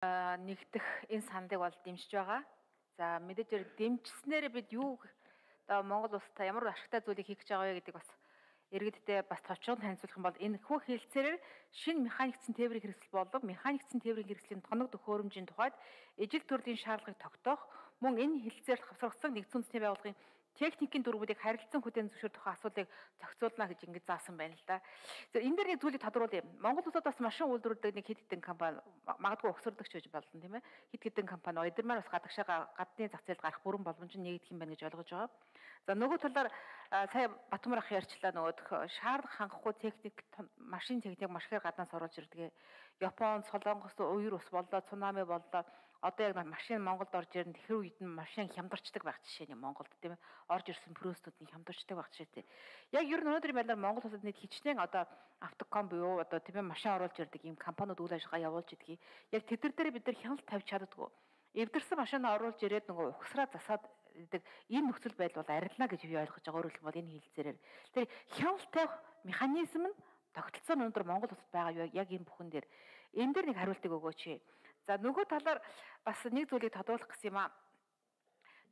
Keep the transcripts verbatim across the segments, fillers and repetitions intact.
Нэгдэх энэ саналыг бол дэмжиж байгаа. За мэдээж дэмжснээр бид юу одоо Монгол улстай ямар ашигтай зүйлийг хийх гэж байгаа вэ гэдэг бас иргэддээ бас товчхон танилцуулах юм бол энэ хүү хэлцээрээр шинэ механикцэн тээврийн хэрэгсэл болов механикцэн тээврийн хэрэгслийн тоног төхөөрөмжийн тухайд ижил төрлийн шаардлагыг тогтоох мөн энэ хэлцээр хавсрагдсан нэгдсэн үндэсний байгууллагын техникийн дүрмүүдийг харилцан хүлээн зөвшөөрөх асуудлыг зохицуулна гэж ингэж заасан байна л да. За энэ дээр нэг зүйлийг тодруулъя. Монгол улсад бас машин үйлдвэрлэдэг нэг хэд хэдэн компани магадгүй өгсөрдөгч байж болно тийм ээ. Хэд хэдэн компани эдгэрмээр бас гадагшаа гадны зах зээлд гарах бүрэн боломж нь нэгдэх юм байна гэж ойлгож байгаа. За нөгөө талаар сая Батмар ах ярьчлаа нөгөө шаардлага хангахгүй техник машин техник маш ихээр гаднаас оруулж ирдэг. Японд, Солонгос, Уяр ус боллоо, цунами боллоо. Одоо яг машин Монголд орж ирэн тэр үед нь машин хямдарчдаг байх жишээ нь Монголд тийм ээ. Орж ирсэн прөөстүүд нь хямдарчдаг байх жишээтэй. Яг ер нь өнөөдрийн байдлаар Монгол улсад нийт хичнээн одоо автоком буюу одоо тийм ээ машин оруулж ирдэг ийм компаниуд үйл ажиллагаа явуулж идгийг. Яг тэд нар дээр бид нар хяналт тавьж чаддгүй. Эвдэрсэн машин оруулж ирээд нөгөө ухсраа засаад гэдэг энэ нөхцөл байдал бол арилна гэж би ойлгож байгаа. Өөрөөр хэлбэл энэ хэлцээрээр тэр хяналт тавих механизм нь тогтолцоо өнөөдөр Монгол улсад байгаа яг энэ бүхэн дээр энэ дээр нэг хариултыг өгөөч. За нөгөө талаар бас нэг зүйлийг тодруулах гэсэн юм аа.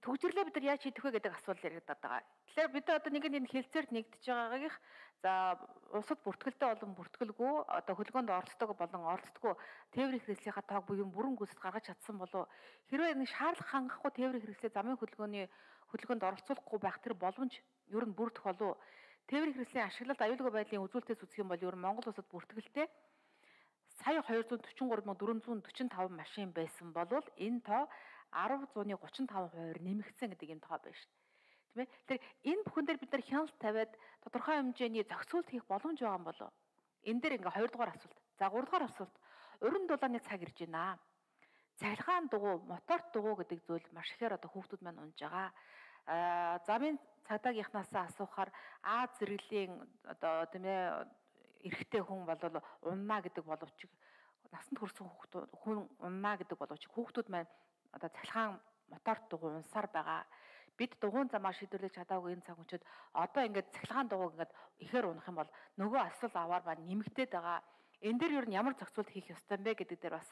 Төгжрлээ бид нар яаж хийх вэ гэдэг асуулт яригдаад байгаа. Тэгэхээр бид одоо нэг энэ хэлцээрт нэгдэж байгаагийнх за улсад бүртгэлтэй болон бүртгэлгүй одоо хөлгөөнд оролцдог болон оролцдоггүй тээврийн хэрэгслийнхаа тоог буюу бүрэн гүйцэд гаргаж чадсан болов хэрвээ нэг шаардлага хангахгүй тээврийн хэрэгслээ замын хөдөлгөөний хөдөлгөөнд оролцуулахгүй байх тэр боломж ер нь бүрдэх болов тээврийн хэрэгслийн ашиглалт аюулгүй байдлын үзүүлэлтээс үзэх юм бол ер нь Монгол улсад бүртгэлтэй сая хоёрдугаар дөрвөн гурван дөрвөн дөрвөн таван машин байсан болвол энэ тоо арав зууны гучин таван хувиар нэмэгдсэн гэдэг юм тоо байна шүү дээ. Тийм ээ. Тэгэхээр энэ бүхэн дээр бид нар хяналт тавиад тодорхой хэмжээний зохицуулт хийх боломж байгаа юм болов. Энэ дээр ингээ хоёрдугаар асуулт. За гуравдугаар асуулт. Уран дулааны цаг ирж байна. Цахилгаан дугуй, мотор дугуй гэдэг зүйл маш ихээр одоо хүүхдүүд маань унж байгаа. Аа замын цагдаагийнхнаас асуухаар А зэрэглэлийн одоо тийм ээ эрэгтэй хүн бол уннаа гэдэг боловч насанд хүрсэн хүүхдүүд хүн уннаа гэдэг боловч хүүхдүүд маань одоо цахилгаан мотор дугуй унсаар байгаа. Бид дугуйн замаар шийдвэрлэж чадаагүй энэ цаг үчид одоо ингээд цахилгаан дугуйг ингээд ихээр унах юм бол нөгөө асал аваар ба нэмэгдээд байгаа. Энэ дээр ер нь ямар зохицуулт хийх ёстой юм бэ гэдэг дээр бас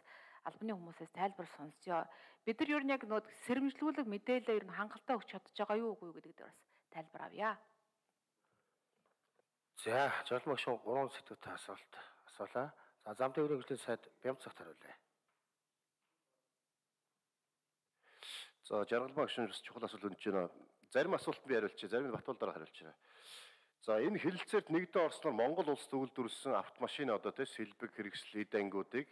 албаны хүмүүсээс тайлбар сонсё. Бид нар ер нь яг нөгөө сэрэмжлүүлэг мэдээлэл ер нь хангалттай өгч чадж байгаа юу үгүй гэдэг дээр бас тайлбар авъя. За, жолмогш гурван сэдвүүтэй асуулт асуулаа. За, зам тээврийн хэрэгслийн сайд Бямцагт хариулъя. За, жаргалмагш бас чухал асуулт өгч байна. Зарим асуулт би хариулчих, зарим нь Батбол дараа хариулж байна. За, энэ хэлэлцээрт нэгдэн орсноор Монгол улсад үйлдвэрлэсэн автомашин одоо тэ сэлбэг хэрэгсэл эд ангиудыг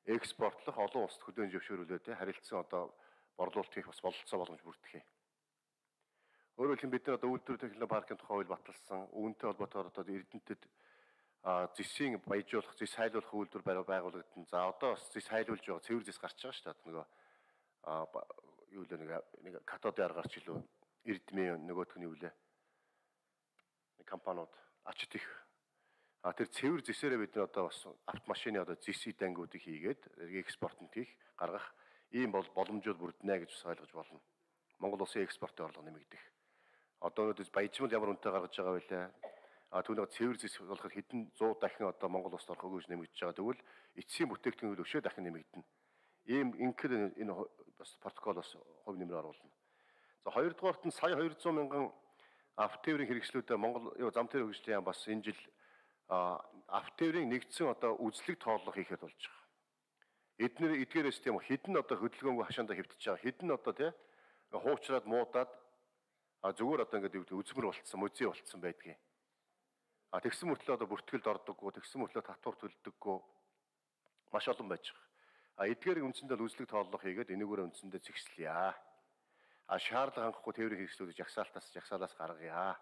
экспортлох олон улсад хөдөөж зөвшөөрүүлээд тэ харилцан одоо борлуулалт хийх бас бололцоо боломж бүрдэх юм. Өөрөөр хэлбэл бид нар одоо үйлдвэр технологи паркын тухай хууль баталсан, үүнтэй холбоотойгоор одоо Эрдэнэтэд зэсийн баяжуулах, зэс хайлуулах үйлдвэр байгуулагдсан. За одоо бас зэс хайлуулж байгаа, цэвэр зэс гарч байгаа шүү дээ. Нөгөө юу л нэг нэг катодын арга гарч илүү Эрдмийн нөгөөх нь юу лээ. Нэг компаниуд ачт их. А тэр цэвэр зэсээрээ бид нар одоо бас автомашины одоо зэс идангуудыг хийгээд экспортод хийх, гаргах ийм бол боломжууд бүрднэ гэж ойлгож болно. Монгол улсын экспортын орлого нэмэгдэх. Одоо өнөөдөр баяжмал ямар үнэтэй гаргаж байгаа вэ? А түүнийг цэвэр зэс болохоор хэдэн зуун дахин одоо Монгол улсад орох өгөөж нэмэгдэж байгаа. Тэгвэл эцсийн бүтээгдэхүүн өшөө дахин нэмэгдэнэ. Ийм инхээр энэ бас протоколоос хувь нэмрээ оруулна. За хоёрдугаарт нь сая хоёр зуун мянган автотээврийн хэрэгслүүдэд Монгол зам тээврийн хэрэгслийн яам бас энэ жил автотээврийн нэгдсэн одоо үзлэг тооллого хийхэд болж байгаа. Эдгээр эдгээрээс тийм хэдэн одоо хөдөлгөөнгүй хашаандаа хэвтэж байгаа. Хэдэн одоо тий хуучраад муудаад а зүгээр одоо ингээд үзмэр болцсон, музей болцсон байдгийг. А тэгсэн мөртлөө одоо бүртгэлд ордоггүй, тэгсэн мөртлөө татвар төлдөггүй маш олон байж байгаа. А эдгээр үндсэндээ үзлэг тооллого хийгээд энэгээр үндсэндээ зэгслэе. А шаардлага хангахгүй тээврийн хэрэгслүүдийг жагсаалтаас жагсаалаас гаргая.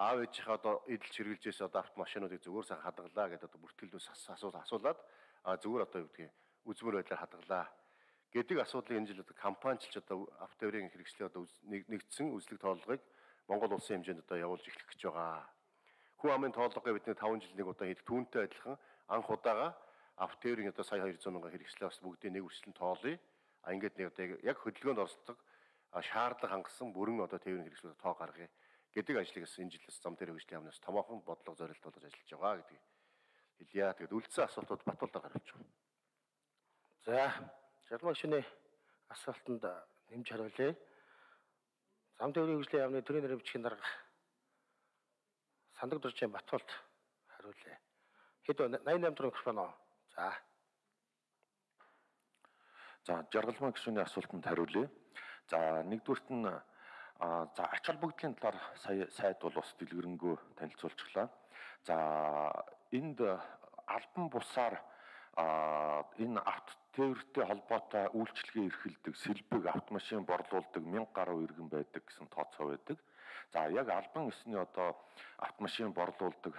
Аав ээжийнхээ одоо эдэлж хэрэглэжээс одоо автомашинуудыг зүгээр сайн хадгалаа гэдэг одоо бүртгэлдээс асуул асуулаад а зүгээр одоо юу гэдгийг үзмэр байдлаар хадгалаа гэдэг асуудлыг энэ жил одоо компаничлж одоо автотээврийн хэрэгслийн одоо нэгдсэн үзлэг тооллогыг Монгол улсын хэмжээнд одоо явуулж эхлэх гэж байгаа. Хүн амын тооллогыг бидний таван жил нэг удаа хийдэг түүнтэй адилхан анх удаага автотээврийн одоо сая хоёр зуун мянган хэрэгслээ бас бүгдийг нэг үргэлжлэн тоолъё. А ингээд нэг одоо яг хөдөлгөөнд оролцдог шаардлага хангасан бүрэн одоо тээврийн хэрэгслүүд тоо гаргая гэдэг ажлыг бас энэ жилээс зам тээврийн хэрэгслийн яамнаас томоохон бодлого зорилт болгож ажиллаж байгаа гэдгийг хэлье. Тэгэд үлдсэн асуултууд Батбол дараа хариулж байгаа. За Жаргалмаа гишүүний асуултанд нэмж хариулъя. Зам тээврийн хөгжлийн яамны төрийн нэрийн бичгийн дарга Сандаг Дуржийн Батболт хариулъя. Хэд вэ? восемь восемь дөрөв микрофон оо. За. За жаргалмаа гишүүний асуултанд хариулъя. За нэгдүгürt нь а за ач холбогдлын талаар сая сайд бол бас дэлгэрэнгүй танилцуулчихлаа. За энд албан бусаар а энэ авто тээвэртэй холбоотой үйлчилгээ эрхэлдэг сэлбэг автомашин борлуулдаг мянга гаруй иргэн байдаг гэсэн тооцоо байдаг. За яг албан ёсны одоо автомашин борлуулдаг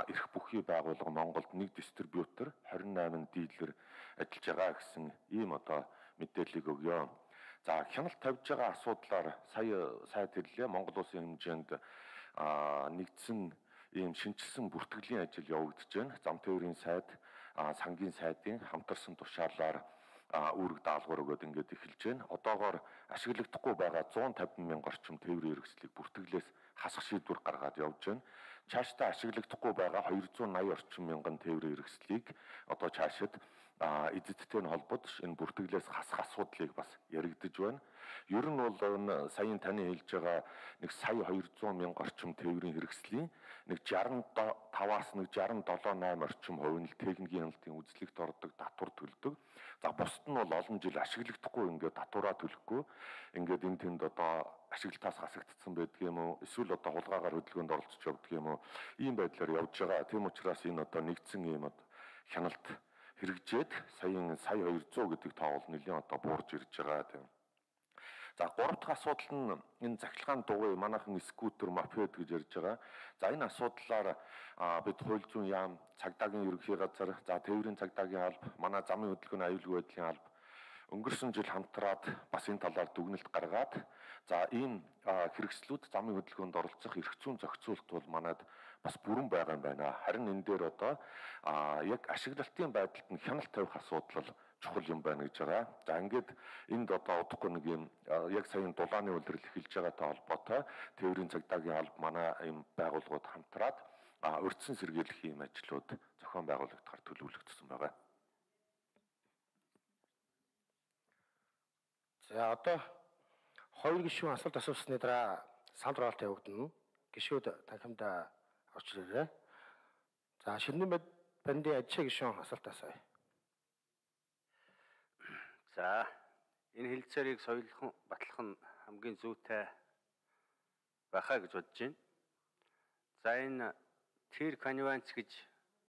эрх бүхий байгууллага Монголд нэг дистрибьютор двадцать восемь дилер ажиллаж байгаа гэсэн ийм одоо мэдээллийг өгье. За хяналт тавьж байгаа асуудлаар сая сайд хэллээ. Монгол улсын хэмжээнд нэгдсэн ийм шинжилсэн бүртгэлийн ажил явагдаж байна. Зам тээврийн сайд, сангийн сайдын хамтарсан тушаалаар үүрэг даалгавар өгөөд ингээд эхэлж байна. Одоогоор ашиглагдахгүй байгаа one fifty мянга орчим тээврийн хэрэгслийг бүртгэлээс хасах шийдвэр гаргаад явж байна. Цаашдаа ашиглагдахгүй байгаа two eighty орчим мянган тээврийн хэрэгслийг одоо цаашид эзэдтэй нь холбоод энэ бүртгэлээс хасах асуудлыг бас яригдж байна. Ер нь бол энэ саяын таны хэлж байгаа нэг сая two hundred мянга орчим тээврийн хэрэгслийн нэг sixty-five-аас нэг sixty-seven eight орчим хувь нь техникийн хяналтын үзлэгт ордог татвар төлдөг. За бусд нь бол олон жил ашиглагдахгүй ингээд татвараа төлөхгүй ингээд энэ тэнд одоо ашиглалтаас хасагдсан байдаг юм уу? Эсвэл одоо хулгайгаар хөдөлгөөнд оролцож явдаг юм уу? Ийм байдлаар явж байгаа. Тийм учраас энэ одоо нэгдсэн юм одоо хяналт хэрэгжээд саяын сая two hundred гэдэг тоол нэлийн одоо буурж ирж байгаа тийм. За гурав дахь асуудал нь энэ захилгаан дугуй манайхан скутер мопед гэж ярьж байгаа. За энэ асуудлаар бид хууль зүйн яам, цагдаагийн ерөнхий газар, за тээврийн цагдаагийн алба, манай замын хөдөлгөөний аюулгүй байдлын алба өнгөрсөн жил хамтраад бас энэ талаар дүгнэлт гаргаад за ийм хэрэгслүүд замын хөдөлгөөнд оролцох эрх зүйн зохицуулт бол манайд бас бүрэн байгаа юм байна. Харин энэ дээр одоо яг ашиглалтын байдалд нь хяналт тавих асуудал чухал юм байна гэж байгаа. За ингээд энд одоо удахгүй нэг юм яг саяын дулааны үйлрэл эхэлж байгаатай холбоотой тээврийн цагдаагийн алба манай ийм байгууллагууд хамтраад урьдчилан сэргийлэх ийм ажлууд зохион байгуулагдахаар төлөвлөгдсөн байгаа. За одоо хоёр гишүүн асуулт асуусны дараа санал хураалт явагдана. Гишүүд танхимд орж ирээрэй. За Ширнэн бандын ажил гишүүн асуулт асууя. За энэ хэлцээрийг соёлхон батлах нь хамгийн зүйтэй байхаа гэж бодож байна. За энэ тэр конвенц гэж